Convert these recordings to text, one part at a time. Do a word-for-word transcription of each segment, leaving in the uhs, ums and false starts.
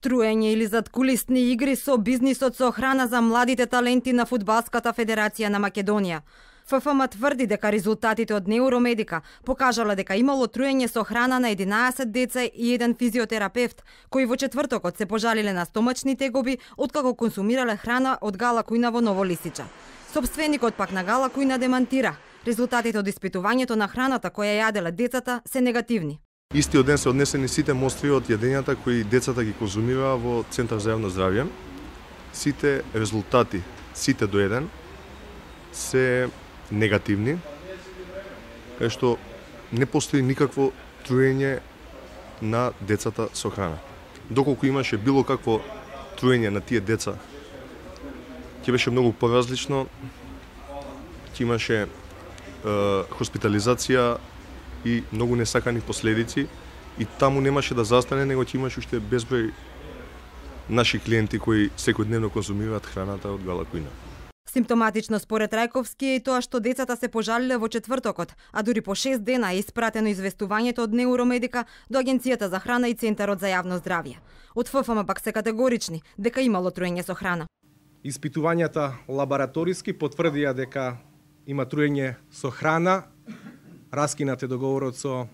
Труење или заткулисни игри со бизнисот со храна за младите таленти на Фудбалската федерација на Македонија. Ф Ф М тврди дека резултатите од Неуромедика покажале дека имало труење со храна на единаесет деца и еден физиотерапевт, кои во четвртокот се пожалиле на стомачни тегоби откако консумирале храна од Гала Кујна во Ново Лисиче. Сопственикот пак на Гала Кујна демантира. Резултатите од испитувањето на храната која јаделе децата се негативни. Истиот ден се однесени сите мостри од јадењата кои децата ги конзумираа во Центар за јавно здравје. Сите резултати, сите до еден, се негативни, кај што не постои никакво труење на децата со храна. Доколку имаше било какво труење на тие деца, ќе беше многу поразлично, ќе имаше е, хоспитализација и многу несакани последици, и таму немаше да застане, него ќе имаше уште безброј наши клиенти кои секојдневно конзумираат храната од Гала Кујна. Симптоматично според Рајковски е и тоа што децата се пожалиле во четвртокот, а дури по шест дена е испратено известувањето од Неуромедика до Агенцијата за храна и Центарот за јавно здравје. Од Ф Ф М пак се категорични дека имало труење со храна. Испитувањата лабораториски потврдија дека има труење со храна. Раскинат е договорот со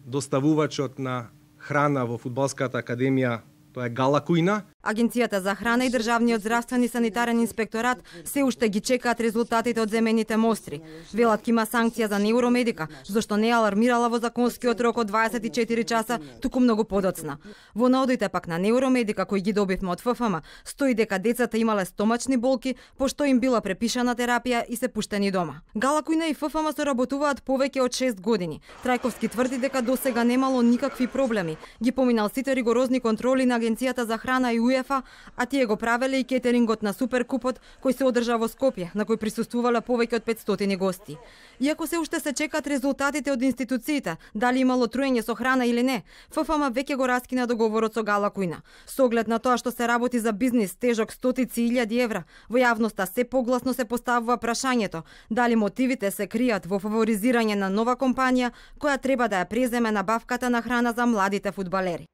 доставувачот на храна во Фудбалската академија, тоа е Гала Кујна. Агенцијата за храна и Државниот здравствен и санитарен инспекторат се уште ги чекаат резултатите од земените мостри. Велат ке има санкција за Неуромедика, зашто не алармирала во законскиот рок од дваесет и четири часа, туку многу подоцна. Во наодите пак на Неуромедика кои ги добивме од Ф Ф М, стои дека децата имале стомачни болки, пошто им била препишана терапија и се пуштени дома. Гала Кујна и Ф Ф М соработуваат повеќе од шест години. Трајковски тврди дека досега немало никакви проблеми. Ги поминал сите ригорозни контроли на Агенцијата за храна и УЕФА, а тие го правеле и кетерингот на Суперкупот кој се одржа во Скопје, на кој присуствувале повеќе од петстотини гости. Иако се уште се чекаат резултатите од институциите, дали имало труење со храна или не, Ф Ф М веќе го раскина договорот со Гала Кујна. Со оглед на тоа што се работи за бизнис тежок стотици илјади евра, во јавноста се погласно се поставува прашањето дали мотивите се кријат во фаворизирање на нова компанија која треба да ја преземе набавката на храна за младите фудбалери.